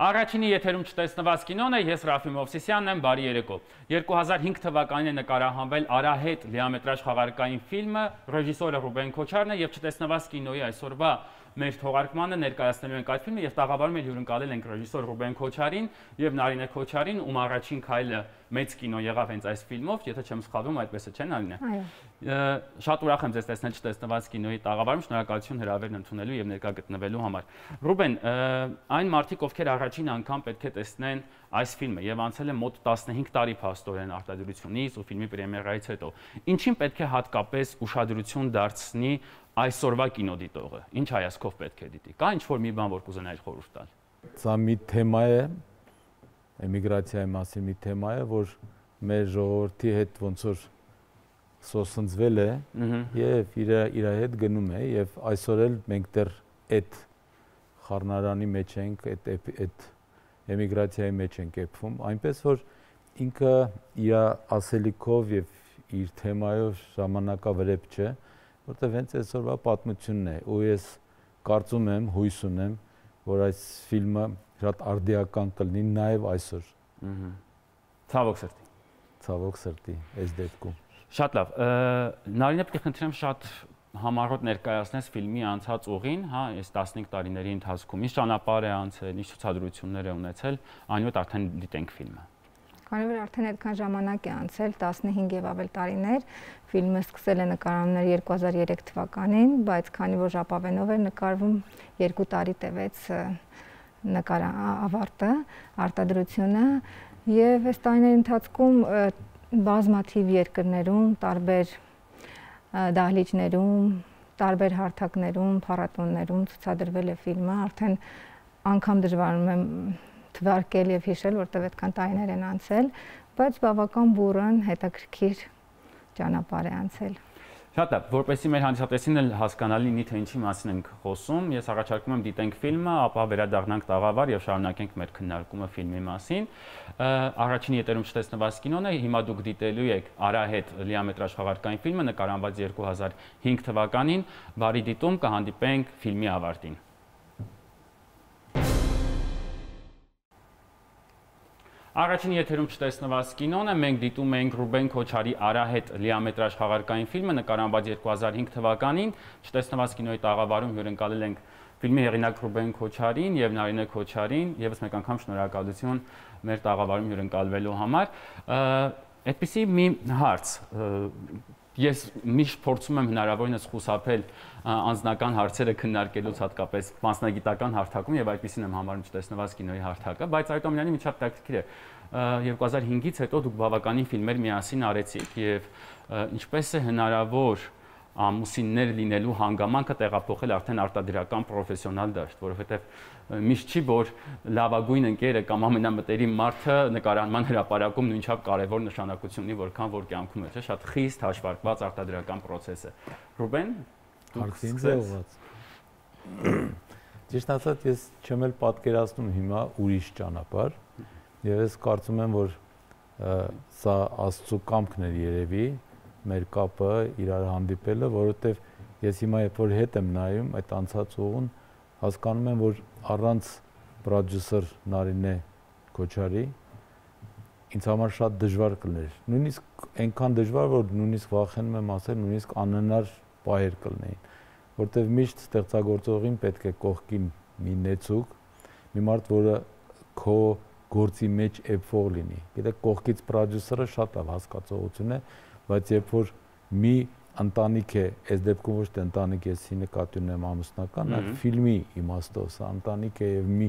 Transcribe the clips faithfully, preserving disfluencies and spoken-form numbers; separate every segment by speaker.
Speaker 1: Առաջինի եթերում չտեսնված կինոն է, ես Ռաֆի Մովսիսյանն եմ, բարի երեկո։ երկու հազար հինգ թվականին է նկարահանվել Արահետ լիամետրաժ խաղարկային ֆիլմը, ռեժիսորը Ռուբեն Քոչարն է եւ չտեսնված կինոյի այսօրվա մեր թողարկմանը ներկայացնելու ենք այդ ֆիլմը եւ տաղավարում էլ հյուրընկալել ենք ռեժիսոր Ռուբեն Քոչարին եւ Նարինե Քոչարին, ում առաջին քայլը մեծ կինո եղավ հենց այս ֆիլմով, եթե չեմ սխալվում, այդպես է, չէ՞ Նարինե։ Այո։ Շատ ուրախ եմ ձեզ տեսնել չտեսնված կինոյի տաղավարում, շնորհակալություն հրավերն ընդունելու եւ ներկա գտնվելու համար։ Ռուբեն, այն մարդիկ, ովքեր առաջին անգամ պետք է տեսնեն այս ֆիլմը եւ անցել է մոտ տասնհինգ տարի փաստորեն արտադրությունից ու ֆիլմի պրեմիերայից հետո, ինչին պետք է հատկապես ուշադրություն դարձնի այսօրվա կինոդիտողը, ինչ հայացքով պետք է դիտի, կա ինչ-որ մի բան, որ կուզենայի խորհուրդ տալ։
Speaker 2: Սա մի թեմա է, էմիգրացիայի մասին մի թեմա է, որ մեր ժողովրդի հետ ոնց որ սոսնձվել է եւ իր իր հետ գնում է եւ այսօր էլ մենք դեռ այդ խառնարանի մեջ ենք, այդ այդ էմիգրացիայի մեջ ենք եփվում, այնպես որ ինքը իր ասելիքով եւ իր թեմայով ժամանակավրեպ չէ, որտեղ հենց այսօրվա պատմությունն է, ու ես կարծում եմ, հույս ունեմ, որ այս ֆիլմը շատ արդիական կլինի նաև այսօր։
Speaker 1: Ցավոք սրտի։
Speaker 2: Ցավոք սրտի, այս դեպքում։
Speaker 1: Շատ լավ։ Նարինե, պետք է խնդրեմ շատ համառոտ ներկայացնես ֆիլմի անցած ուղին, հա, այս տասնհինգ տարիների ընթացքում, ինչ ճանապարհ է անցել, ինչ ցուցադրություններ է ունեցել, այնուհետ արդեն դիտենք ֆիլմը։
Speaker 3: Քանի որ արդեն այդքան ժամանակ է անցել, տասնհինգ եւ ավել տարիներ, ֆիլմը սկսել է նկարահանվել երկու հազար երեք թվականին, բայց քանի որ ժապավենով էր նկարվում, երկու տարի տևեց նկարավարտը, արտադրությունը, եւ այս տարիների ընթացքում բազմաթիվ երկրներում, տարբեր դահլիճներում, տարբեր հարթակներում, փառատոներում ցուցադրվել է ֆիլմը, արդեն անգամ դժվարում եմ թվարկել եւ հիշել, որտեղ այդքան տարիներ են անցել, բայց բավական բուրըն, հետաքրքիր ճանապարհ է անցել։
Speaker 1: Շատ լավ, որպեսզի մեր հանդիսատեսին էլ հասկանալի լինի, թե ինչի մասին ենք խոսում, ես առաջարկում եմ դիտենք ֆիլմը, ապա վերադառնանք տաղավար եւ շարունակենք մեր քննարկումը ֆիլմի մասին։ Առաջին եթերում չտեսնված կինոն է, հիմա դուք դիտելու եք Արահետ լիամետրաժ խաղարկային ֆիլմը, նկարահանված երկու հազար հինգ թվականին, բարի դիտում, կհանդիպենք ֆիլմի ավարտին։ Առաջին եթերում չտեսնված կինոն է, մենք դիտում ենք Ռուբեն Քոչարի Արահետ լիամետրաժ խաղարկային ֆիլմը, նկարահանված երկու հազար հինգ թվականին, չտեսնված կինոյի տաղավարում հյուրընկալել ենք ֆիլմի հեղինակ Ռուբեն Քոչարին եւ Նարինե Քոչարին, եւս մեկ անգամ շնորհակալություն մեր տաղավարում հյուրընկալվելու համար։ Այդպիսի մի հարց, ես միշտ փորձում եմ հնարավորինս խուսափել անձնական հարցերը քննարկելուց, հատկապես մասնագիտական հարթակում, եւ այդպեսին եմ համարում չտեսնված կինոյի հարթակը, բայց այդուամենայնիվ շատ տակտիկիր է։ երկու հազար հինգից հետո դուք բավականին ֆիլմեր միասին արեցիք եւ ինչպես է հնարավոր ամուսիններ լինելու հանգամանքը տեղափոխել արդեն արտադրական պրոֆեսիոնալ դաշտ, որովհետեւ միշտ չի, որ լավագույն ընկերը կամ ամենամտերիմ մարդը նկարահանման հրապարակում նույնչափ կարևոր նշանակություն ունի, որքան որ կյանքում է, չէ՞, շատ խիստ հաշվարկված արտադրական process է։ Ռուբեն,
Speaker 2: հարցին ձևված։ Ճիշտ ասած, ես չեմ էլ պատկերացնում հիմա ուրիշ ճանապարհ, եւ ես կարծում եմ, որ սա Աստծո կամքն էր երևի, մեր կապը իրար հանդիպելը, որովհետեւ ես հիմա երբ որ հետ եմ նայում այդ անցած ուղուն, հասկանում եմ, որ առանց պրոդյուսեր Նարինե Քոչարի ինձ համար շատ դժվար կլիներ։ Նույնիսկ այնքան դժվար, որ նույնիսկ վախենում եմ ասել, նույնիսկ անհնար պահեր կլինեին, որտեվ միշտ ստեղծագործողին պետք է կողքին մի նեցուկ, մի մարդ, որը քո գործի մեջ էփող լինի։ Գիտեք, կողքից պրոդյուսերը շատ լավ հասկացողություն է, բայց երբ որ մի ընտանիք է, այս դեպքում ոչ թե ընտանիք է, ես նկատի ունեմ ամուսնական, այլ ֆիլմի իմաստով, սա ընտանիք է եւ մի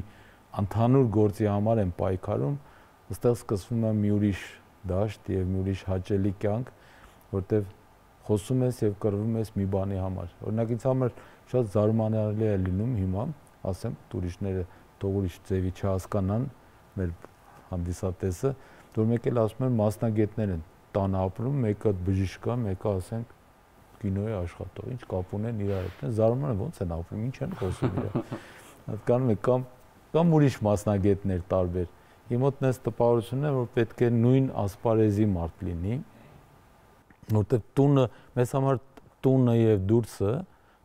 Speaker 2: ընդհանուր գործի համար են պայքարում, այստեղ սկսվում է մի ուրիշ դաշտ եւ մի ուրիշ հաճելի կյանք, որտեվ խոսում ես եւ կռվում ես մի բանի համար։ Օրինակ ինձ համար շատ զարմանալի է լինում հիմա, ասեմ, տուրիստները թող ուրիշ ձևի չհասկանան մեր հանդիսատեսը, որ մեկ էլ ասում են մասնագետներ են տան ապրում, մեկը բժիշկ է, մեկը ասենք կինոյի աշխատող, ինչ կապ ունեն իրար հետ, զարմանում են ոնց են ապրում, ինչ են խոսում իրար։ Հասկանում եք, կամ կամ ուրիշ մասնագետներ տարբեր։ Իմ մոտ նես տպավորությունն է, որ պետք է նույն ասպարեզի մարդ լինի, որտեղ տունը, մեզ համար տունը եւ դուրսը,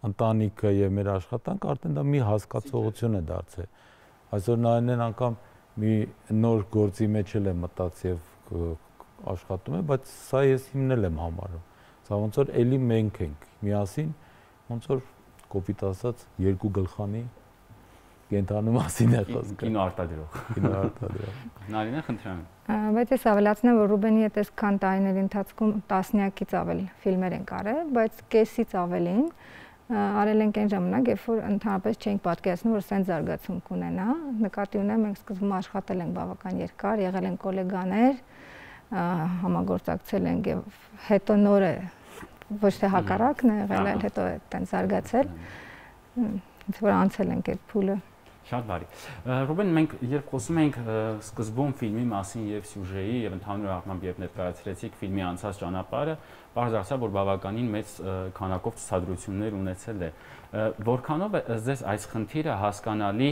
Speaker 2: ընտանիքը եւ մեր աշխատանքը արդեն դա մի հասկացողություն է դարձել։ Այսօր նայեն անգամ մի նոր գործի մեջ էլ եմ մտած եւ աշխատում եմ, բայց սա ես հիմնել եմ համարում։ Սա ոնց որ էլի մենք ենք միասին, ոնց որ կոպիտ ասած երկու գլխանի կենթանու մասին է խոսքը։
Speaker 1: Կինո արտադրող։
Speaker 2: Կինո արտադրող։
Speaker 1: Նարինե, խնդրեմ։
Speaker 3: Բայց ես ավելացնեմ, որ Ռուբենի հետ այսքան տարիների ընթացքում տասնյակից ավել ֆիլմեր են արել, բայց կեսից ավելին արել ենք այն ժամանակ, երբ որ ընդհանրապես չենք պատկերացնում, որ սենց զարգացում կունենա։ Նկատի ունեմ, մենք սկզբում աշխատել ենք բավական երկար, եղել են գոլեգաներ, համագործակցել ենք եւ հետո նոր է ոչ թե հակառակն է եղել, այլ հետո է տենց զարգացել։ Ինձ որ անցել ենք այդ փուլը։
Speaker 1: Շատ բարի։ Ռուբեն, մենք երբ խոսում ենք սկզբում ֆիլմի մասին եւ սյուժեի եւ ընդհանուր առմամբ երբ ներկայացրեցիք ֆիլմի անցած ճանապարհը, բարձր ասա, որ բավականին մեծ քանակով ցուցադրություններ ունեցել է։ Որքանով է ձեզ այս խնդիրը հասկանալի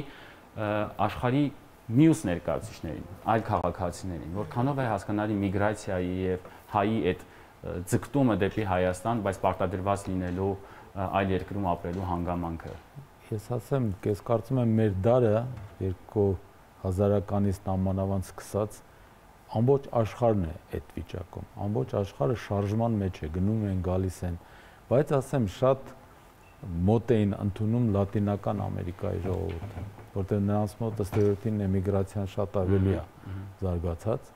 Speaker 1: աշխարհի մյուս ներկայացուցիչներին, այլ քաղաքացիներին, որքանով է հասկանալի միգրացիայի եւ հայի այդ ձգտումը դեպի Հայաստան, բայց պարտադրված լինելու այլ երկրում ապրելու հանգամանքը։
Speaker 2: Ես ասեմ, ես կարծում եմ մեր դարը երկու հազարականից նամանավանդ սկսած ամբողջ աշխարհն է այդ վիճակում։ Ամբողջ աշխարհը շարժման մեջ է, գնում են, գալիս են, բայց ասեմ շատ մոտ էին ընդունում Լատինական Ամերիկայի ժողովուրդը, որտեղ նրանց մոտ ըստերոթին էմիգրացիան շատ ավելի է զարգացած,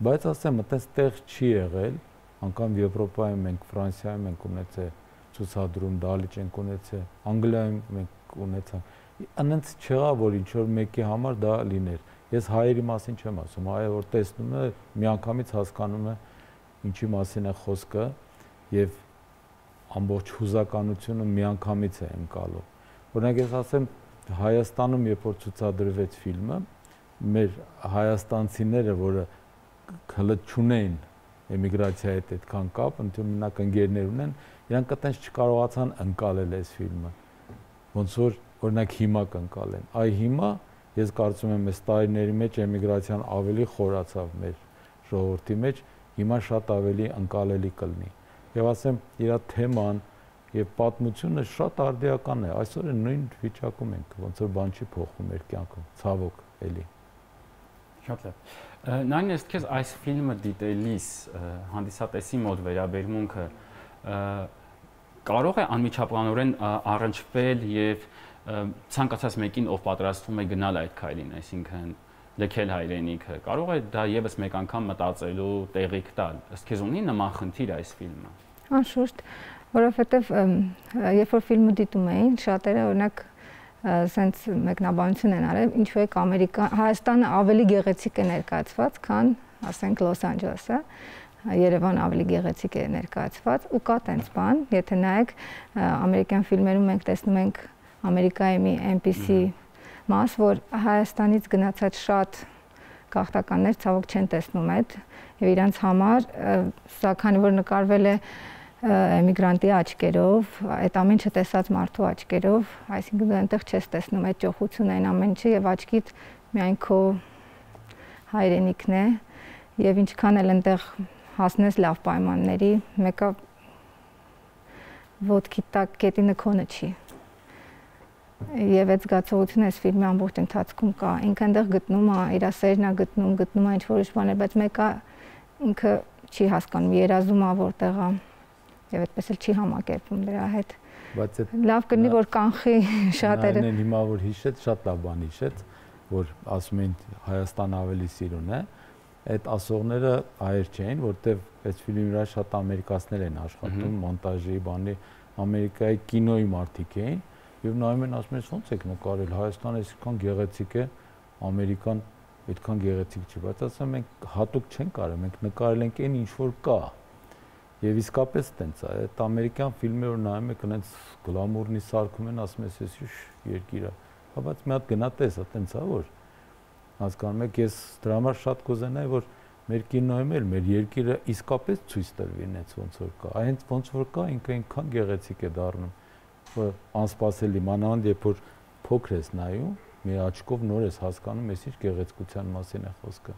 Speaker 2: բայց ասեմ, այդպես տեղ չի եղել, անգամ Եվրոպայում մենք, Ֆրանսիայում ենք ունեցել ցուցադրում, Դալիճ ենք ունեցել, Անգլիայում մենք ունեցանք։ Անենց չեղա, որ ինչ որ մեկի համար դա լիներ։ Ես հայերի մասին չեմ ասում, հայը որ տեսնում է, միանգամից հասկանում է ինչի մասին է խոսքը եւ ամբողջ հուզականությունը միանգամից է ընկալում։ Օրինակ ես ասեմ, Հայաստանում երբ որ ցուցադրվեց ֆիլմը, մեր հայաստանցիները, որը հələ չունեն էմիգրացիայի հետ այդքան կապ, ընդհանրապես ընկերներ ունեն, իրանք այտենց չկարողացան ընկալել այս ֆիլմը։ Ոնց որ օրինակ հիմա կընկալեն։ Այ հիմա ես կարծում եմ այս տարիների մեջ էմիգրացիան ավելի խորացավ մեր ժողովրդի մեջ, հիմա շատ ավելի ընկալելի կլինի։ Եվ ասեմ, իր թեման եւ պատմությունը շատ արդիական է։ Այսօր նույն վիճակում ենք, ոնց որ բան չի փոխվում մեր կյանքում, ցավոք, էլի։
Speaker 1: Շատ լավ։ Նայն ես քեզ այս ֆիլմը դիտելիս հանդիսատեսի մոտ վերաբերմունքը կարող է անմիջականորեն առնչվել եւ ցանկացած մեկին, ով պատրաստվում է գնալ այդ քայլին, այսինքն լքել հայրենիքը, կարող է դա եւս մեկ անգամ մտածելու տեղիք տալ։ Ըստ քեզ ունի նման խնդիր այս ֆիլմը։
Speaker 3: Անշուշտ, որովհետեւ երբ որ ֆիլմը դիտում էին, շատերը օրինակ սենց մեկնաբանություն են արել, ինչու է Ամերիկա, Հայաստանը ավելի գեղեցիկ է ներկայացված, քան, ասենք, Լոս Անջելեսը, Երևանը ավելի գեղեցիկ է ներկայացված ու կա տենց բան, եթե նայեք ամերիկյան ֆիլմերում մենք տեսնում ենք Ամերիկայի մի այնպիսի մաս, որ Հայաստանից գնացած շատ գաղթականներ ցավոք չեն տեսնում այդ եւ իրանց համար սա քանի որ նկարվել է էմիգրանտի աչքերով, այդ ամեն ինչը տեսած մարդու աչքերով, այսինքն դու այնտեղ չես տեսնում այդ ճոխությունը, այն ամեն ինչը եւ աչքիդ միայն քո հայրենիքն է եւ ինչքան էլ այնտեղ հասնես լավ պայմանների, մեկը ոտքի տակ կետինը քոնը չի։ Եվ այդ զգացողությունը այս ֆիլմի ամբողջ ընթացքում կա։ Ինքը այնտեղ գտնում է, իր սերն է գտնում, գտնում է ինչ-որ ուրիշ բաներ, բայց մեկը ինքը չի հասկանում, երազում է որտեղ է եւ այդպես էլ չի համակերպվում դրա հետ։
Speaker 2: Բայց այդ
Speaker 3: լավ կլինի որ կանխի շատերը։
Speaker 2: Նայեն հիմա որ հիշեց, շատ լավ բան հիշեց, որ ասում են Հայաստանը ավելի սիրուն է։ Այդ ասողները հայեր չէին, որտեվ այս ֆիլմի վրա շատ ամերիկացիներ են աշխատում, մոնտաժի, բանի, Ամերիկայի կինոյի մարդիկ էին եւ նայում են ասում են ո՞նց եք նկարել, Հայաստանը այսքան գեղեցիկ է, Ամերիկան այդքան գեղեցիկ չի, բայց ասում ենք հատուկ չենք արել, մենք նկարել ենք այն ինչ որ կա։ Եվ իսկապես տենց է, այդ ամերիկյան ֆիլմերը որ նայում եք, այնց գլամուրնի սարքում են, ասում ես էս ինչ երկիր է։ Հա բայց մի հատ գնա տես, տենց է որ հասկանում եք, ես դրա համար շատ կուզենայի, որ մեր կինոյում էլ մեր երկիրը իսկապես ցույց տրվի այնց ոնց որ կա։ Այնց ոնց որ կա, ինքը այնքան գեղեցիկ է դառնում, որ անսպասելի, մանավանդ երբ որ փոքր ես նայում, մի աչքով նոր ես հասկանում, ես ինչ գեղեցկության մասին է խոսքը։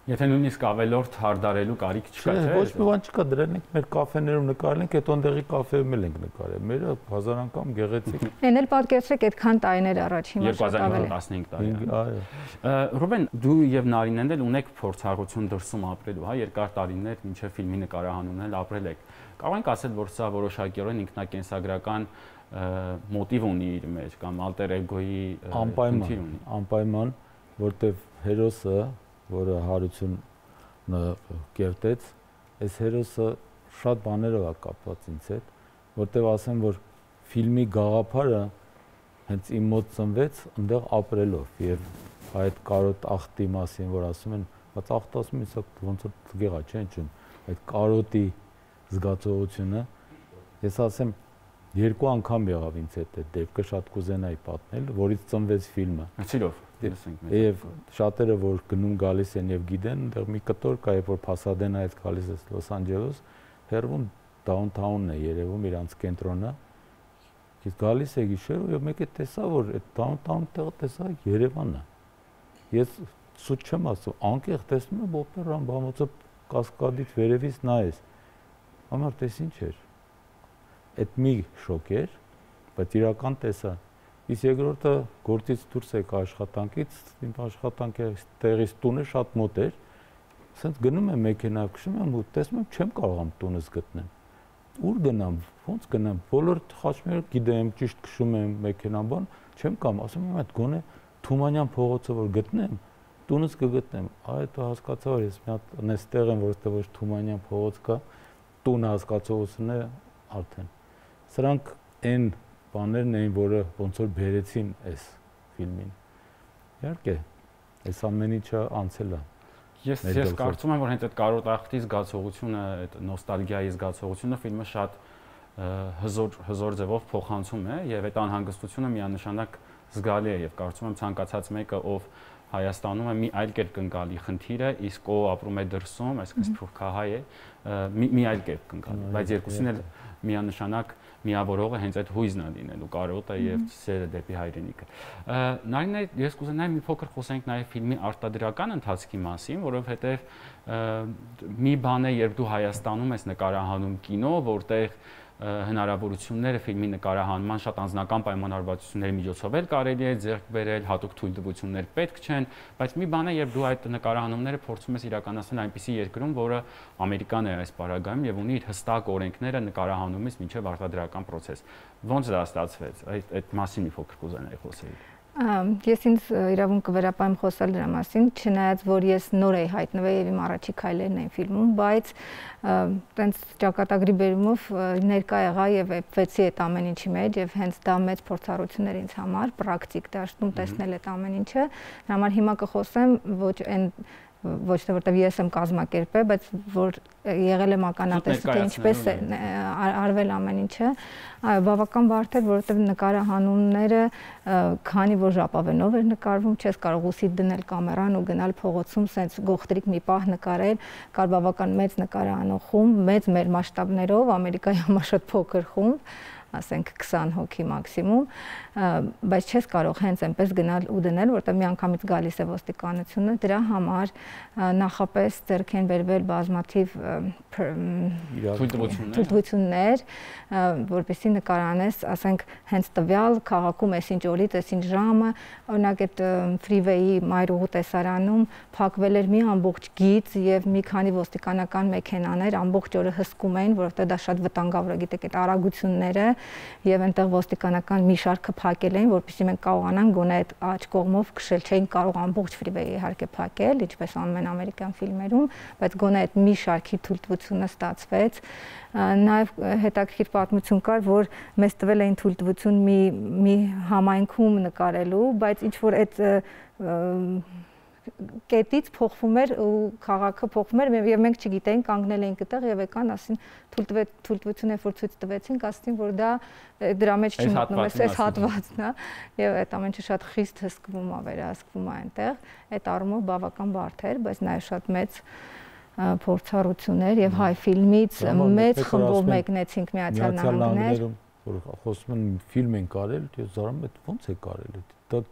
Speaker 1: Եթե նույնիսկ ավելորդ հարդարելու կարիք չկա,
Speaker 2: չէ։ Ոչ մի բան չկա, դրան ենք մեր կաֆեներում նկարել ենք, այդ ոնդեղի կաֆեում էլ ենք նկարել։ Մերը հազար անգամ գեղեցիկ։
Speaker 3: Էն էլ պատկերացրեք այդքան տարիներ առաջ, հիմա
Speaker 1: երկու հազար տասնհինգ տարի։
Speaker 2: Այո։
Speaker 1: Ռուբեն, դու եւ Նարինեն էլ ունեք փորձառություն դրսում ապրելու, հա, երկար տարիներ մինչեւ ֆիլմի նկարահանումն էլ ապրել եք։ Կարող ենք ասել, որ սա որոշակիորեն ինքնակենսագրական մոտիվ ունի իր մեջ կամ alter ego-ի
Speaker 2: խնդիր ունի։ Անպայման, որտեվ հերոսը, որը Հարությունը կերտեց, այս հերոսը շատ բաներով է կապված ինձ հետ, որտեվ ասեմ, որ ֆիլմի գաղափարը հենց իմ մոտ ծնվեց այնտեղ ապրելով եւ այդ կարոտ ախտի մասին, որ ասում են, բայց ախտը ասում են, սա ոնց որ տղեա չէ, ինչու՞, այդ կարոտի զգացողությունը, ես ասեմ, երկու անգամ եղավ ինձ հետ այդ դեպքը, շատ կուզենայի պատմել, որից ծնվեց ֆիլմը։
Speaker 1: Հացիրով
Speaker 2: Եվ շատերը, որ գնում գալիս են եւ գիտեն, այնտեղ մի կտոր կա, երբ որ Փասադենայից գալիս ես Լոս Անջելես, հեռվում դաունթաունն է երևում, իրանց կենտրոնը։ Ես գալիս եի գիշերով եւ մեկը տեսա, որ այդ դաունթաուն տեղը տեսա Երևանը։ Ես սուտ չեմ ասում, անկեղ տեսնում եմ օպերան, բամոցը կասկադից վերևից նայես։ Ամառ տես ինչ էր։ Այդ մի շոկ էր, բայց իրական տեսա։ Իսկ երկրորդը գործից դուրս եկա աշխատանքից, իմ աշխատանքի տեղից տունը շատ մոտ էր։ Ասենց գնում եմ մեքենայով, քշում եմ ու տեսնում եմ չեմ կարողam տունս գտնել։ Ուր գնամ, ո՞նց գնամ, բոլոր խաչմերը գիտեմ, ճիշտ քշում եմ մեքենան, բան, չեմ կամ, ասում եմ այդ գոնե Թումանյան փողոցը որ գտնեմ, տունս կգտնեմ։ Այդ հասկացա, որ ես մի հատ նստեղ եմ, որովհետեւ ոչ Թումանյան փողոց կա, տունը հասկացողությունն է արդեն։ Սրանք այն բաներն էին, որը ոնց որ բերեցին այս ֆիլմին։ Իհարկե, այս ամեն ինչը անցել է։
Speaker 1: Ես ես կարծում եմ, որ հենց այդ կարոտախտի զգացողությունը, այդ նոստալգիայի զգացողությունը ֆիլմը շատ հզոր հզոր ձևով փոխանցում է եւ այդ անհանգստությունը միանշանակ զգալի է եւ կարծում եմ ցանկացած մեկը, ով Հայաստանում է մի այլ կերպ կնկալի խնդիրը, իսկ ով ապրում է դրսում, այսինքն սփյուռքահայ է, մի մի այլ կերպ կնկալի, բայց երկուսին էլ միանշանակ միավորողը հենց այդ հույզն է լինելու կարոտը եւ սերը դեպի հայրենիքը։ Նարինե, ես կուզենայի մի փոքր խոսենք նաեւ ֆիլմի արտադրական ընթացքի մասին, որովհետեւ մի բան է, երբ դու Հայաստանում ես նկարահանում կինո, որտեղ հնարավորությունները ֆիլմի նկարահանման շատ անձնական պայմանավորվածությունների միջոցով էլ կարելի է ձեռք բերել, հատուկ թույլտվություններ պետք չեն, բայց մի բան է, երբ դու այդ նկարահանումները փորձում ես իրականացնել այնպիսի երկրում, որը Ամերիկան է այս պարագայում եւ ունի իր հստակ օրենքները նկարահանումից մինչեւ արտադրական process։ Ոնց դա ստացվեց։ Այդ այդ մասին մի փոքր կուզենայի խոսել։
Speaker 3: Ես ինձ իրավունք կվերապահեմ խոսալ դրա մասին, չնայած որ ես նոր էի հայտնվել եւ իմ առաջի քայլերն էին ֆիլմում, բայց տենց ճակատագրի բերումով ներկա եղա եւ վեցի այդ ամեն ինչի մեջ եւ հենց դա մեծ փորձառություն էր ինձ համար, պրակտիկ դաշտում տեսնել այդ ամեն ինչը։ Դրա համար հիմա կխոսեմ ոչ այն ոչ թե որտեվ ես եմ կազմակերպել, բայց որ եղել եմ ականատեսը, թե ինչպես է արվել ամեն ինչը, այո, բավական բարդ էր, որովհետև նկարահանումները քանի որ ժապավենով էր նկարվում, չես կարող ուսիդ դնել կամերան ու գնալ փողոցում, սենց գողտրիկ մի պահ նկարել, կար բավական մեծ նկարահանող խումբ, մեծ մեր մասշտաբներով, Ամերիկայի համար շատ փոքր խումբ, ասենք քսան հոգի մաքսիմում, բայց չես կարող հենց այնպես գնալ ու դնել, որտեղ միանգամից գալիս է ոստիկանությունը, դրա համար նախապես ձեռք են բերվել բազմաթիվ թույլտվություններ, որպեսզի նկարանես, ասենք հենց տվյալ քաղաքում այսինչ օրից, այսինչ ժամը, օրինակ այդ ֆրիվեյի Մայրուղու տեսարանում փակվել էր մի ամբողջ գիծ եւ մի քանի ոստիկանական մեքենաներ ամբողջ օրը հսկում էին, որովհետեւ դա շատ վտանգավոր է, գիտեք, այդ արագությունները եւ այնտեղ ոստիկանական մի շարքը փակել էին, որպեսզի մենք կարողանանք գոնե այդ աջ կողմով քշել, չէին կարող ամբողջ ֆրիվեյը իհարկե փակել, ինչպես անում են ամերիկյան ֆիլմերում, բայց գոնե այդ մի շարքի թույլտվությունը ստացվեց։ Նաեւ հետաքրքիր պատմություն կար, որ մեզ տվել էին թույլտվություն մի մի համայնքում նկարելու, բայց ինչ որ այդ կետից փոխվում էր ու քաղաքը փոխվում էր եւ մենք չգիտեինք, կանգնել էինք այդտեղ եւ եկան ասին թույլտվություն է որ ցույց տվեցին, ասին որ դա դրա մեջ չի մտնում, այս հատվածն է եւ այդ ամենը շատ խիստ հսկվում է, վերահսկվում է այնտեղ, այդ առումով բավական բարդ էր, բայց նաեւ շատ մեծ փորձառություններ եւ հայ ֆիլմից մեծ խմբով մեկնեցինք Միացյալ Նահանգներ,
Speaker 2: որ խոսում են ֆիլմ են կարել, ես զարում եմ ոնց է կարել, դա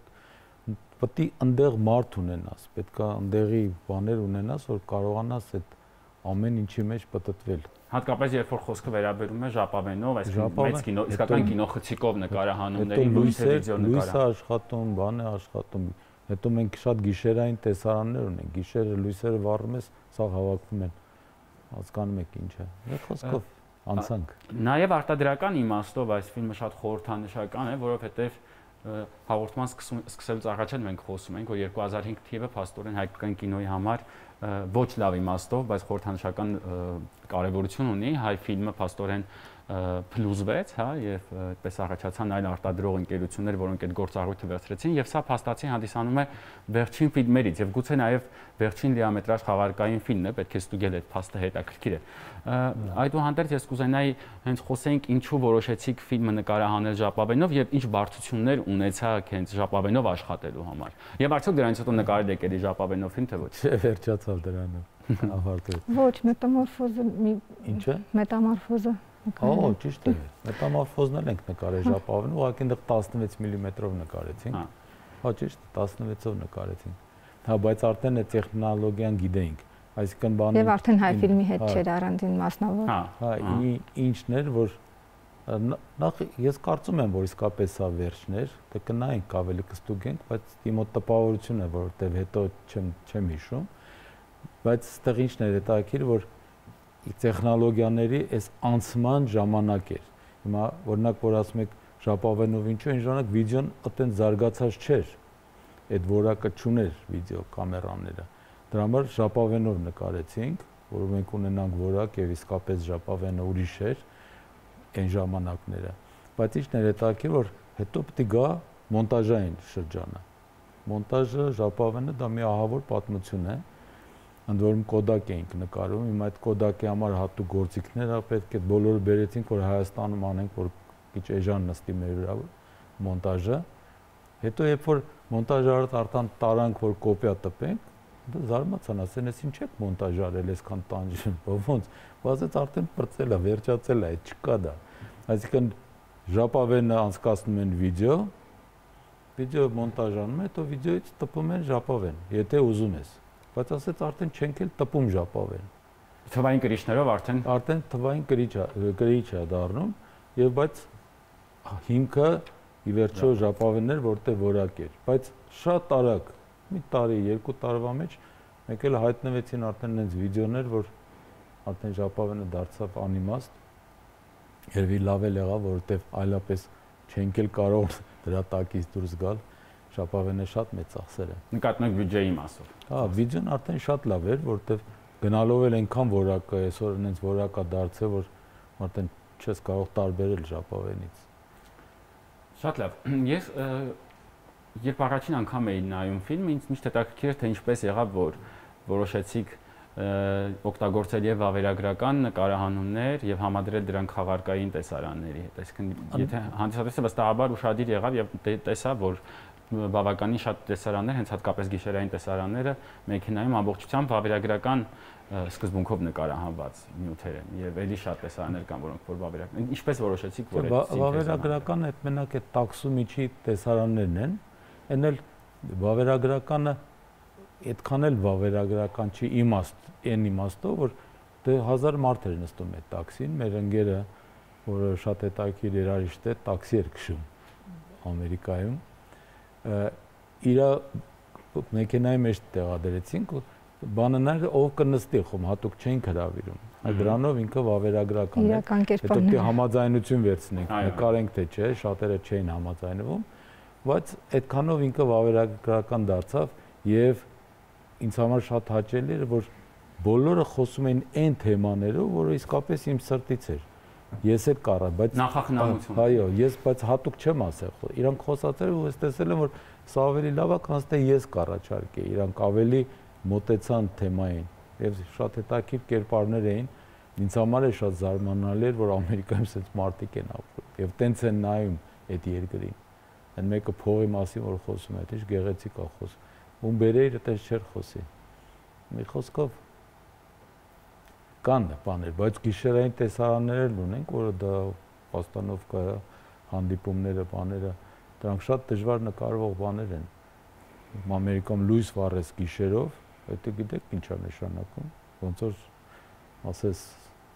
Speaker 2: պետք է այնտեղ մարդ ունենաս, պետք է այնտեղի բաներ ունենաս, որ կարողանաս այդ ամեն ինչի մեջ պատտվել։
Speaker 1: Հատկապես երբ որ խոսքը վերաբերում է ժապավենով, այսինքն մեծ կինո, իսկական կինոխցիկով նկարահանումների, լույսը, վիդեո նկարահանում։
Speaker 2: Լույսը աշխատում, բան է աշխատում։ Հետո մենք շատ գիշերային տեսարաններ ունենք, գիշերը լույսերը վառում ես, սա հավաքվում են, հասկանում եք ինչ է։ Այդ խոսքով անցանք։
Speaker 1: Նաև արտադրական իմաստով այս ֆիլմը շատ խորհրդանշական է, որովհետև հաղորդման սկսելուց առաջ էլ մենք խոսում ենք, որ երկու հազար հինգ թիվը փաստորեն հայկական կինոյի համար ոչ լավ իմաստով, բայց խորհրդանշական կարևորություն ունի, հայ ֆիլմը փաստորեն փլուզվեց, հա, եւ այդպես առաջացան այլ արտադրող ընկերություններ, որոնք այդ գործառույթը վերցրեցին, եւ սա փաստացի հանդիսանում է վերջին ֆիլմերից եւ գուցե նաեւ վերջին լիամետրաժ խաղարկային ֆիլմն է, պետք է ստուգել այդ փաստը հետաքրքիր է։ Այդուհանդերձ ես կուզենայի հենց խոսենք ինչու որոշեցիք ֆիլմը նկարահանել ժապավենով եւ ինչ բարդություններ ունեցաք հենց ժապավենով աշխատելու համար։ Եվ արդյոք դրանից հետո նկարել եք էլի ժապավենով ֆիլմ թե ոչ։
Speaker 2: Չէ, վերջացավ դրանով։ Ավարտվեց։
Speaker 3: Ոչ, մետամորֆոզը մի
Speaker 2: Ինչ է։
Speaker 3: Մետամորֆոզը։
Speaker 2: Ահա, ճիշտ է։ Մետամորֆոզն էլ ենք նկարել ժապավենով, ուղղակի այնտեղ տասնվեց միլիմետրով նկարեցինք։ Հա, ճիշտ, տասնվեցով նկարեցինք։ Հա, բայց արդեն այդ տեխնոլոգիան գիտեինք, այսինքն բանը
Speaker 3: Եվ արդեն հայ ֆիլմի հետ չէր առանձին մասնավոր։
Speaker 2: Հա, ինչն էր, որ նախ ես կարծում եմ, որ իսկապես սա վերջն էր, դե կնայենք, ավելի կստուգենք, բայց դիմոտ տպավորություն է, որովհետև հետո չեմ չեմ հիշում, բայց այստեղ ինչն էր հետաքրքիր, որ տեխնոլոգիաների այս անցման ժամանակ էր։ Հիմա օրինակ որ ասում եք ժապավենով ինչու այն ժամանակ վիդեոն այդտենց զարգացած չէր։ Այդ որակը չուներ վիդեո կամերաները։ Դրա համար ժապավենով նկարեցինք, որ մենք ունենանք որակ եւ իսկապես ժապավենը ուրիշ էր այն ժամանակները։ Բայց ինչն էր հետաքրքիր, որ հետո պետք է գա մոնտաժային շրջանը։ Մոնտաժը ժապավենը դա մի ահավոր պատմություն է։ Ընդ որում կոդակ էինք նկարում, հիմա այդ կոդակի համար հատուկ գործիքներ ա պետք է բոլորը բերեցինք, որ Հայաստանում անենք, որ քիչ էժան նստի մեր վրա մոնտաժը։ Հետո երբ որ մոնտաժը արտան տարանք, որ կոպիա տպենք, դա զարմացան, ասեն, ես ինչ եք մոնտաժ արել, այսքան տանջում, ոնց, բացեց արդեն պրծել է, վերջացել է, չկա դա։ Այսինքն ժապավենը անցկացնում են վիդեո, վիդեո մոնտաժանում է, հետո վիդեոից տպում են ժապավեն, եթե ուզում ես։ Բայց ասեց արդեն չենք էլ տպում ժապավեն։
Speaker 1: Թվային կրիչներով արդեն
Speaker 2: արդեն թվային կրիչ կրիչ է դառնում եւ բայց հիմքը ի վերջո ժապավեններ որտեղ որակ էր, բայց շատ արագ մի տարի, երկու տարվա մեջ մեկ էլ հայտնվեցին արդեն այնց վիդեոներ, որ արդեն ժապավենը դարձավ անիմաստ։ Երևի լավ էլ եղավ, որովհետեւ այլապես չենք էլ կարող դրա տակից դուրս գալ։ Ժապավենը շատ մեծ ծախսեր է։
Speaker 1: Նկատում եք բյուջեի մասով։
Speaker 2: Հա, վիդեոն արդեն շատ լավ էր, որովհետև գնալով էլ այնքան որակը, այսօր այնց որակա դարձել, որ արդեն չես կարող տարբերել ժապավենից։
Speaker 1: Շատ լավ։ Ես երբ առաջին անգամ էի նայում ֆիլմը, ինձ միշտ հետաքրքիր էր, թե ինչպես եղավ, որ որոշեցիք օգտագործել եւ վավերագրական նկարահանումներ եւ համադրել դրանք խաղարկային տեսարանների հետ։ Այսինքն, եթե հանդիսատեսը վստահաբար ուշադիր եղավ եւ տեսա, որ բավականին շատ տեսարաններ, հենց հատկապես գիշերային տեսարանները մեքենայում ամբողջությամբ վավերագրական սկզբունքով նկարահանված նյութեր են եւ ելի շատ տեսարաններ կան, որոնք որ վավերագրական։ Ինչպես որոշեցիք, որ այդ
Speaker 2: վավերագրականը այդ մենակ այդ տաքսու միջի տեսարաններն են, այն էլ վավերագրականը այդքան էլ վավերագրական չի իմաստ, այն իմաստով, որ դե հազար մարդ էր նստում այդ տաքսին, մեր ընկերը, որը շատ հետաքրքիր երաժիշտ է, տաքսի էր քշում Ամերիկայում, իր մեքենայի մեջ տեղադրեցինք, բանը նա ով կնստի, խոմ հատուկ չենք հրավիրում, դրանով ինքը վավերագրական է, հետո պետք է համաձայնություն վերցնենք, նկարենք թե չէ, շատերը չէին համաձայնվում, բայց այդքանով ինքը վավերագրական դարձավ եւ ինձ համար շատ հաճելի էր, որ բոլորը խոսում էին այն թեմաներով, որը իսկապես իմ սրտից էր։ Ես էլ կարա, բայց
Speaker 1: նախախնամություն։
Speaker 2: Այո, ես բայց հատուկ չեմ ասել։ Իրանք խոսացել ու ես տեսել եմ, որ սա ավելի լավ է, քան թե ես կառաջարկեի։ Իրանք ավելի մոտեցան թեմային եւ շատ հետաքրքիր կերպարներ էին։ Ինձ համար է շատ զարմանալի էր, որ Ամերիկայում այսպես մարդիկ են ապրում եւ տենց են նայում այդ երկրին։ Այն մեկը փողի մասին որ խոսում է, դե գեղեցիկ է խոսում։ Ում բերեիր այդպես չէր խոսի։ Մի խոսքով կան բաներ, բայց գիշերային տեսարաններ ունենք, որը դա պաստանովկա հանդիպումները, բաները, դրանք շատ դժվար նկարվող բաներ են։ Ամերիկայում լույս վառեց գիշերով, դա գիտեք ինչ է նշանակում, ոնց որ ասես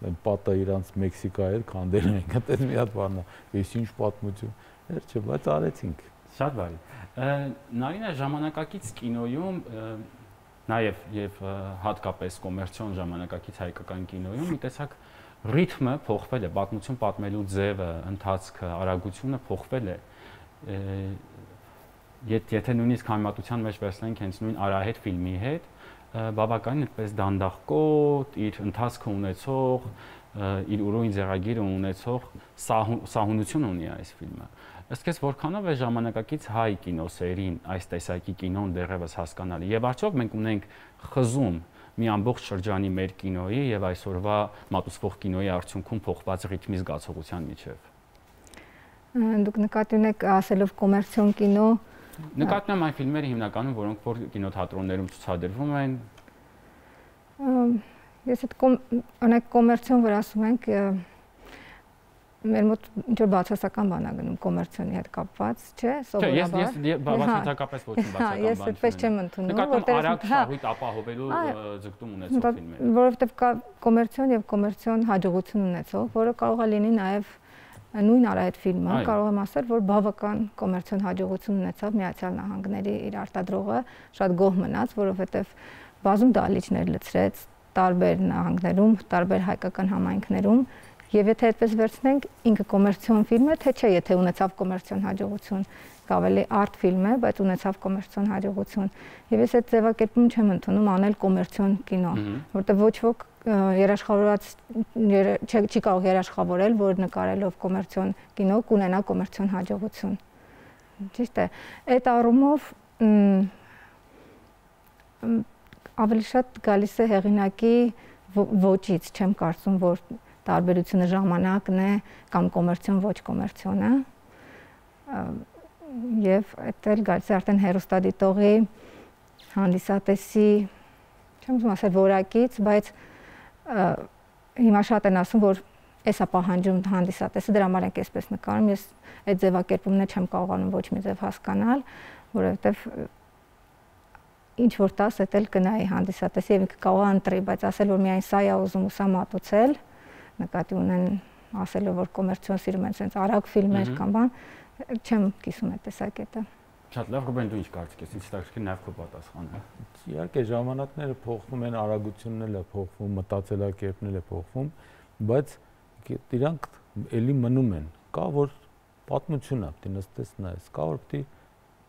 Speaker 2: այն պատը իրանց Մեքսիկայի հետ քանդել են, այդպես մի հատ բան է, ես ինչ պատմություն, էր չէ, բայց արեցինք։
Speaker 1: Շատ բարի։ Նարինա, ժամանակակից կինոյում նաև եւ հատկապես կոմերցիոն ժամանակակից հայկական կինոյում մի տեսակ ռիթմը փոխվել է, պատմություն պատմելու ձևը, ընթացքը, արագությունը փոխվել է։ Եթե նույնիսկ համեմատության մեջ վերցնենք հենց նույն Արահետ ֆիլմի հետ, բավականին այդպես դանդաղկոտ, իր ընթացքը ունեցող, իր ուրույն ձեռագիրը ունեցող սահունություն ունի այս ֆիլմը։ Ըստ քեզ որքանով է ժամանակակից հայ կինոսերին այս տեսակի կինոն դեռևս հասկանալի եւ արդյոք մենք ունենք խզում մի ամբողջ շրջանի մեր կինոյի եւ այսօրվա մատուցվող կինոյի արդյունքում փոխված ռիթմի զգացողության միջև։
Speaker 3: Դուք նկատի ունեք ասելով կոմերցիոն կինո,
Speaker 1: նկատում եմ այն ֆիլմերը հիմնականում, որոնք որ կինոթատրոններում ցուցադրվում են։
Speaker 3: Ես այդ օրինակ կոմերցիոն որ ասում ենք, մեր մոտ ինչ որ բացասական բան է գնում կոմերցիոնի հետ կապված, չէ՞,
Speaker 1: սովորաբար։ Չէ, ես բացասակապես ոչ մի բացասական բան չունեմ։
Speaker 3: Ես այդպես չեմ ընդունում,
Speaker 1: որտեղ արագ շահույթ ապահովելու ձգտում ունեցող ֆիլմ է։
Speaker 3: Որովհետև կա կոմերցիոն եւ կոմերցիոն հաջողություն ունեցող, որը կարող է լինի նաեւ նույն Արահետ ֆիլմը, կարող եմ ասել, որ բավական կոմերցիոն հաջողություն ունեցավ Միացյալ Նահանգների իր արտադրողը, շատ գոհ մնաց, որովհետև բազում դահլիճներ լցրեց տարբեր նահանգներում, տարբեր հայկական համայնքներում, եւ եթե այդպես վերցնենք, ինքը կոմերցիոն ֆիլմ է, թե չէ, եթե ունեցավ կոմերցիոն հաջողություն, ավելի արտ ֆիլմ է, բայց ունեցավ կոմերցիոն հաջողություն։ Եվ ես այդ ձևակերպում չեմ ընդունում անել կոմերցիոն կինո, որտեղ ոչ ոք երաշխավորած չի կարող երաշխավորել, որ նկարելով կոմերցիոն կինո կունենա կոմերցիոն հաջողություն։ Ճիշտ է։ Այդ առումով ավելի շատ գալիս է հեղինակի ոճից, չեմ կարծում, որ տարբերությունը ժամանակն է կամ կոմերցիոն ոչ կոմերցիոնը։ Եվ այդ էլ գալիս է արդեն հեռուստադիտողի հանդիսատեսի, չեմ ուզում ասել որակից, բայց հիմա շատ են ասում, որ էսա պահանջում հանդիսատեսը, դրա համար ենք այսպես նկարում, ես այդ ձևակերպումն չեմ կարողանում ոչ մի ձև հասկանալ, որովհետև ինչ որ տաս էդ էլ կնայի հանդիսատեսի եւ ինքը կարող է ընտրի, բայց ասել որ միայն սա է ուզում ու սա մատուցել, նկատի ունեն ասելով որ կոմերցիոն սիրում են sense արագ ֆիլմեր կամ բան, չեմ կիսում այդ տեսակետը։
Speaker 1: Շատ լավ, Ռուբեն, դու ինչ կարծիք ես, ինչ տակշկի նաև քո պատասխանը։
Speaker 2: Իհարկե ժամանակները փոխվում են, արագությունն էլ է փոխվում, մտածելակերպն էլ է փոխվում, բայց դրանք էլի մնում են։ Կա որ պատմություն է, պետք է նստես նայես, կա որ պետք է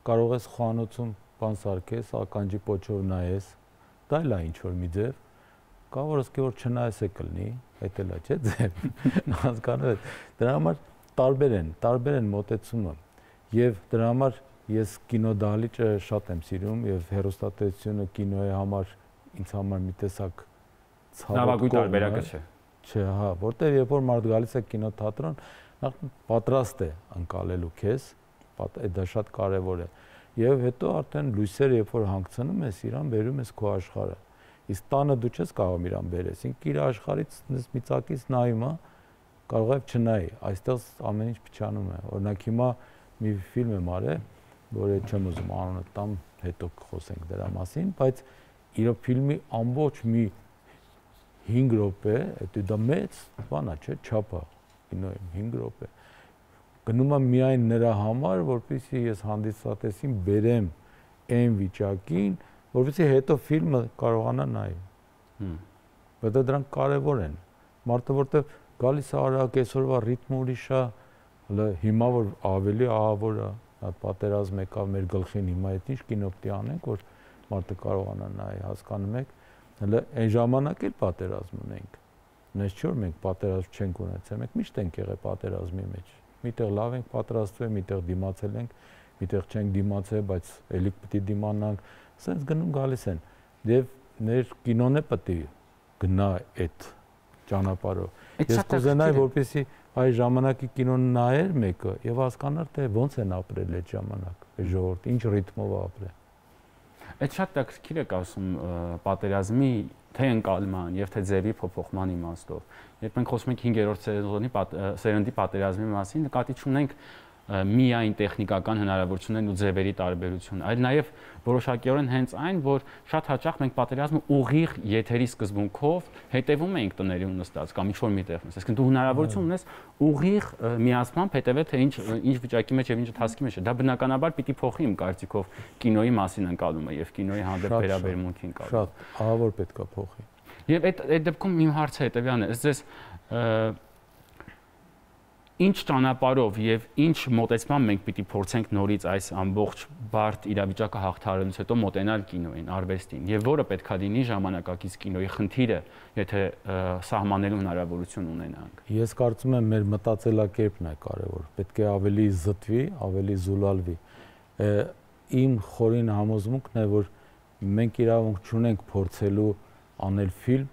Speaker 2: կարող ես խոհանոցում բան սարքես, ականջի պոչով նայես, դա էլ է ինչ որ մի ձև, կա որ ասկե որ չնայես է կլինի, այդ էլ է, չէ՞ ձև։ Հասկանում եք, դրա համար տարբեր են, տարբեր են մոտեցումը եւ դրա համար ես կինոդահլիճը շատ եմ սիրում եւ հեռուստատեսությունը կինոյի համար ինձ համար մի տեսակ
Speaker 1: ցավագույն տարբերակը չէ։
Speaker 2: Չէ, հա, որտեղ երբ որ մարդ գալիս է կինոթատրոն, նախ պատրաստ է անցալելու քեզ, դա շատ կարեւոր է։ Եվ հետո արդեն լույսերը երբ որ հանգցնում ես, իրան բերում ես քո աշխարհը։ Իսկ տանը դու չես կարող իրան բերես, ինքը իր աշխարհից մի ծակից նայում է, կարող է չնայի, այստեղ ամեն ինչ փչանում է։ Օրինակ հիմա մի ֆիլմ եմ արել, որը չեմ ուզում անունը տամ, հետո կխոսենք դրա մասին, բայց իր ֆիլմի ամբողջ մի հինգ րոպե, դա մեծ բան է, չէ՞, չափ է, կինոյի հինգ րոպե։ Գնում եմ միայն նրա համար, որպեսզի ես հանդիսատեսին բերեմ այն վիճակին, որպեսզի հետո ֆիլմը կարողանա նայել։ Բայց դրանք կարևոր են։ Մարդը որտեվ գալիս է արագ, այսօրվա ռիթմը ուրիշ է, հիմա որ ավելի ահավոր է, այդ պատերազմ եկավ մեր գլխին, հիմա այդ ինչ կինո պետք է անենք, որ մարդը կարողանա նայել, հասկանում եք, հələ այն ժամանակ էլ պատերազմ ունենք։ Նես չէ որ մենք պատերազմ չենք ունեցել, մենք միշտ ենք եղել պատերազմի մեջ։ Միտեղ լավ ենք պատրաստվել, միտեղ դիմացել ենք, միտեղ չենք դիմացել, բայց ելիք պետք է դիմանանք, ասենց գնում գալիս են։ Եվ մեր կինոն է պետք է գնա այդ ճանապարհով։ Ես կուզենայի, որպեսզի այ ժամանակի կինոն նայեր մեկը եւ հասկանար թե ոնց են ապրել այդ ժամանակ, այդ ժողովուրդը, ինչ ռիթմով ապրել։
Speaker 1: Այդ շատ տակսկիր եք ասում պատերազմի թե ընկալման եւ թե ձևի փոփոխման իմաստով։ Երբ մենք խոսում ենք հինգերորդ սեզոնի սերնդի պատերազմի մասին, նկատի ունենք միայն տեխնիկական հնարավորություններն ու ձևերի տարբերությունը, այլ նաև որոշակիորեն հենց այն, որ շատ հաճախ մենք պատերազմը ուղիղ եթերի սկզբունքով հետևում էինք տների նստած կամ ինչ-որ միտեղ նստած, այսինքն դու հնարավորություն ունես ուղիղ միացմամբ հետևել, թե ինչ ինչ վիճակի մեջ եւ ինչ ընթացքի մեջ է։ Դա բնականաբար պիտի փոխի իմ կարծիքով կինոյի մասին ընկալումը եւ կինոյի հանդեպ վերաբերմունքի ընկալումը։
Speaker 2: Շատ, ահա որ պետքա փոխի։
Speaker 1: Եվ այդ այդ դեպքում իմ հարցը հետևյալն է, ըստ ձեզ ինչ ճանապարհով եւ ինչ մոտեցմամբ մենք պիտի փորձենք նորից այս ամբողջ բարդ իրավիճակը հաղթահարելուց հետո մոտենալ կինոյին, արվեստին եւ որը պետքա լինի ժամանակակից կինոյի խնդիրը, եթե սահմանելու հնարավորություն ունենանք։
Speaker 2: Ես կարծում եմ մեր մտածելակերպն է կարևոր, պետք է ավելի զտվի, ավելի զուլալվի։ Իմ խորին համոզմունքն է, որ մենք իրավունք չունենք փորձելու անել ֆիլմ,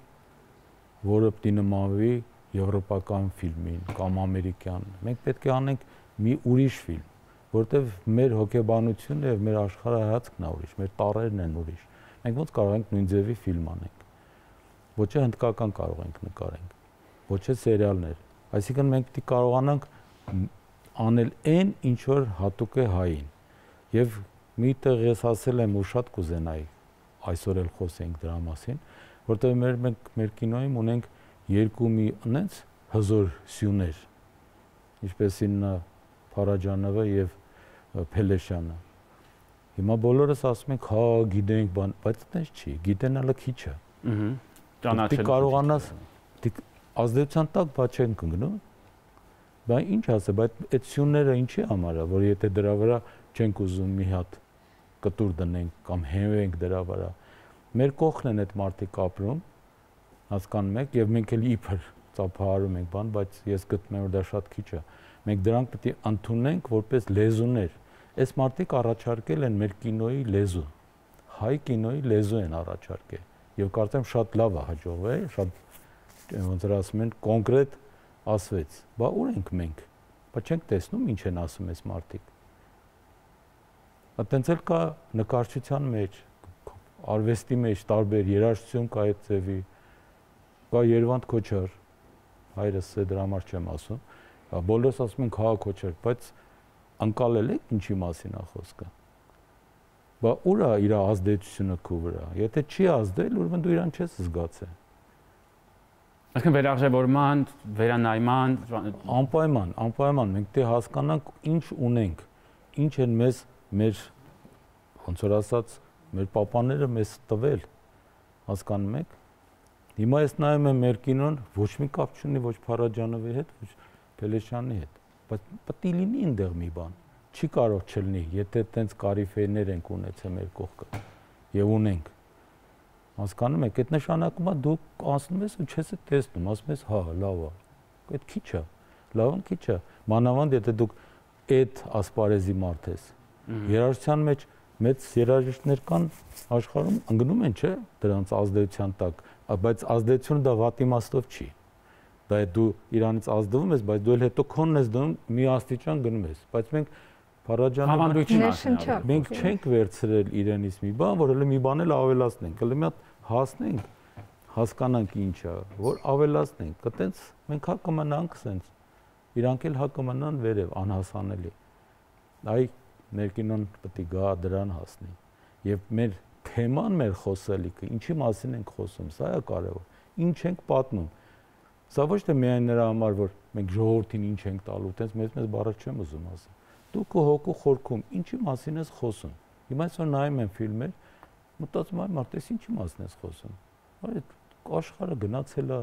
Speaker 2: որը պիտի նմանվի եվրոպական ֆիլմին կամ ամերիկյան։ Մենք պետք է անենք մի ուրիշ ֆիլմ, որտեղ մեր հոգեբանությունը եւ մեր աշխարհայացքն է ուրիշ, մեր տառերն են ուրիշ։ Մենք ոնց կարող ենք նույն ձևի ֆիլմ անենք։ Ոչ է հնդկական կարող ենք նկարենք, ոչ է սերիալներ։ Այսինքն մենք պետք է կարողանանք անել այն, ինչ որ հատուկ է հային։ Եվ միտեղ ես ասել եմ ու շատ կուզենայի այսօր էլ խոսենք դրա մասին, որտեղ մեր մենք մեր կինոյում ունենք երկու մի այնց հզոր սյուներ, ինչպեսին Փարաջանովը եւ Փելեշյանը։ Հիմա բոլորս ասում ենք, հա, գիտենք բան, բայց այդպես չի, գիտենալը քիչ է։
Speaker 1: Ահա։ Ճանաչել։
Speaker 2: Դու կարողանաս ազդեցության տակ բա չենք ընկնում։ Բա ինչ ասե, բայց այդ սյունները ինչի համար է, որ եթե դրա վրա չենք ուզում մի հատ կտուր դնենք կամ հենվենք դրա վրա։ Մեր կողքն են այդ մարդիկ ապրում, հասկանում եք, եւ մենք էլ իբր ծափահարում ենք բան, բայց ես գտնում եմ, որ դա շատ քիչ է։ Մենք դրանք պետք է ընդունենք որպես լեզուներ։ Այս մարդիկ առաջարկել են մեր կինոյի լեզու, հայ կինոյի լեզու են առաջարկել, եւ կարծեմ շատ լավ է հաջողվել, շատ ոնց որ ասում են կոնկրետ ասվեց։ Բա ուր ենք մենք։ Բա չենք տեսնում ինչ են ասում այս մարդիկ։ Այդտենց էլ կա նկարչության մեջ, արվեստի մեջ տարբեր երաժշտություն կա այդ ձևի, կա Երվանդ Քոչար, հայրս է դրա համար չեմ ասում, բոլորս ասում են Քահա Քոչար, բայց անկալել եք ինչի մասին է խոսքը։ Բա ուր է իր ազդեցությունը քո վրա։ Եթե չի ազդել, ուրեմն դու իրան չես զգացել։
Speaker 1: Այսինքն վերարժևորման, վերանայման,
Speaker 2: անպայման, անպայման մենք դե հասկանանք ինչ ունենք, ինչ են մեզ մեր ոնց որ ասած մեր պապաները մեզ տվել, հասկանում եք։ Հիմա ես նայում եմ մեր կինոն, ոչ մի կապ չունի ոչ Փարաջանովի հետ, ոչ Փելեշյանի հետ, բայց պետք է լինի այնտեղ մի բան։ Չի կարող չլինի, եթե տենց կարիֆեներ ենք ունեցել մեր կողքը եւ ունենք։ Հասկանում եք, այդ նշանակում է դու ասում ես ու չես տեսնում, ասում ես հա, լավ է։ Այդ քիչ է, լավն քիչ է։ Մանավանդ եթե դուք այդ ասպարեզի մարդ ես։ Երաժշտության մեջ մեծ երաժիշտներ կան աշխարհում, ընկնում են, չէ՞, դրանց ազդեցության տակ, բայց ազդեցությունը դա վատ իմաստով չի։ Դա է դու իրանից ազդվում ես, բայց դու էլ հետո քոնն ես դնում մի աստիճան գնում ես, բայց մենք Փարաջանովը մենք չենք վերցրել իրենից մի բան, որ հələ մի բան էլ ավելացնենք, հələ մի հատ հասնենք, հասկանանք ինչ է, որ ավելացնենք, այտենց մենք հա կմնանք սենց, իրանք էլ հա կմնան վերև անհասանելի։ Այ մեր կինոն պետք է գա դրան հասնի։ Եվ մեր թեման, մեր խոսելիքը, ինչի մասին ենք խոսում, սա է կարևոր։ Ինչ ենք պատմում։ Սա ոչ թե միայն նրա համար, որ մենք ժողովրդին ինչ ենք տալու, այտենց մեծ-մեծ բառեր չեմ ուզում ասել։ Դու քո հոգու խորքում ինչի մասին ես խոսում։ Հիմա այսօր նայում եմ ֆիլմեր, մտածում եմ, մարդես ինչի մասին ես խոսում։ Այդ աշխարհը գնացել է,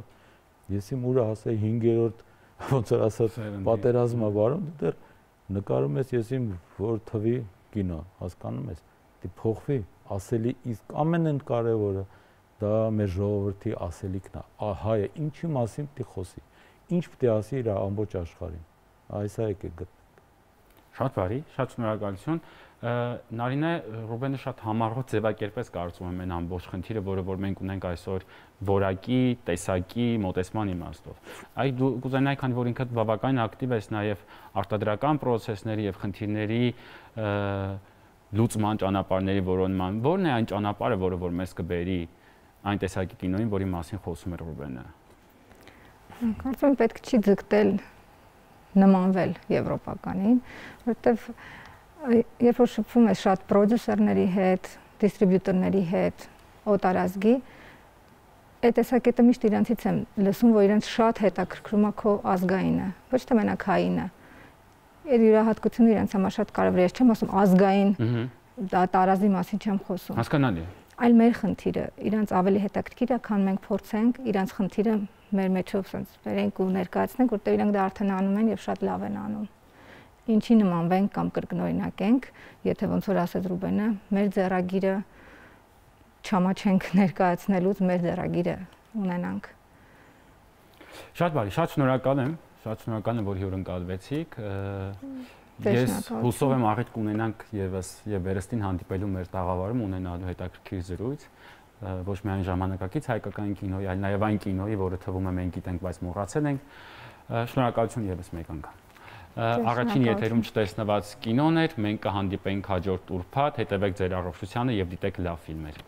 Speaker 2: ես իմ ուրա ասեի հինգերորդ ոնց որ ասած պատերազմը վարում, դու դեռ նկարում ես ես իմ որ թվի կինո, հասկանում ես։ Դի փոխվի, ասելի իսկ ամենն կարևորը դա մեր ժողովրդի ասելիքն է։ Հայը ինչի մասին պետք է խոսի։ Ինչ պետք է ասի իր ամբողջ աշխարհին։ Այս է եկեք գտ
Speaker 1: Շատ բարի, շատ շնորհակալություն։ Նարինե, Ռուբենը շատ համառոտ ձևակերպեց կարծում եմ այն ամբողջ խնդիրը, որը որ մենք ունենք այսօր որակի, տեսակի, մոտեցման իմաստով։ Այ դու կուզենայի, քանի որ ինքդ բավական ակտիվ ես նաև արտադրական process-ների եւ խնդիրների լուծման ճանապարհների որոնման, ո՞րն է այն ճանապարհը, որը որ մեզ կբերի այն տեսակի կինոյին, որի մասին խոսում էր Ռուբենը։
Speaker 3: Կարծում եմ պետք չի ձգտել նմանվել եվրոպականին, որովհետև երբ որ շփվում ես շատ պրոդյուսերների հետ, դիստրիբյուտորների հետ, օտարազգի, այդ տեսակետը միշտ իրանցից եմ լսում, որ իրանց շատ հետաքրքրում է քո ազգայինը, ոչ թե մենակ հայինը։ Այդ յուրահատկությունը իրանց համար շատ կարևոր է, ես չեմ ասում ազգային, դա տարազի մասին չեմ խոսում։
Speaker 1: Հասկանալի է։
Speaker 3: Այլ մեր խնդիրը, իրանց ավելի հետաքրքիր է, քան մենք փորձենք իրանց խնդիրը մեր մեջով sense վերենք ու ներկայացնենք, որտեղ իրանք դա արդեն անում են եւ շատ լավ են անում։ Ինչի նմանվենք կամ կրկնօրինակենք, եթե ոնց որ ասեց Ռուբենը, մեր ձեռագիրը չամաչենք ներկայացնելուց մեր ձեռագիրը ունենանք։
Speaker 1: Շատ բարի, շատ շնորհակալ եմ, շատ շնորհակալ եմ, որ հյուրընկալվեցիք։ Ես հուսով եմ առիթ կունենանք եւս եւ վերստին հանդիպելու մեր տաղավարում ունենալու հետաքրքիր զրույց, ոչ միայն ժամանակակից հայկական կինոյի, այլ նաեւ այն կինոյի, որը թվում է մենք գիտենք, բայց մոռացել ենք։ Շնորհակալություն եւս մեկ անգամ։ Առաջին եթերում չտեսնված կինոն էր, մենք կհանդիպենք հաջորդ ուրբաթ, հետևեք ձեր առողջությանը եւ դիտեք լավ ֆիլմեր։